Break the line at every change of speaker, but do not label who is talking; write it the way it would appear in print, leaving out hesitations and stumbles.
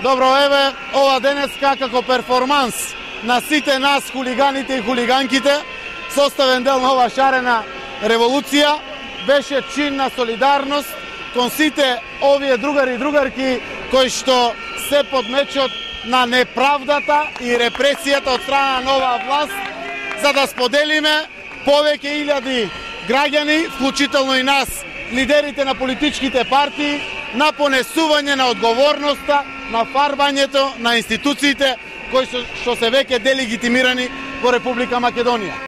Добро, еве, ова денеска како перформанс на сите нас, хулиганите и хулиганките, составен дел на ова шарена револуција, беше чин на солидарност кон сите овие другари и другарки кои што се под мечот на неправдата и репресијата од страна на нова власт, за да споделиме повеќе илјади граѓани, вклучително и нас, лидерите на политичките партии, на понесување на одговорноста, на фарбањето на институциите кои што се веќе делегитимирани во Република Македонија.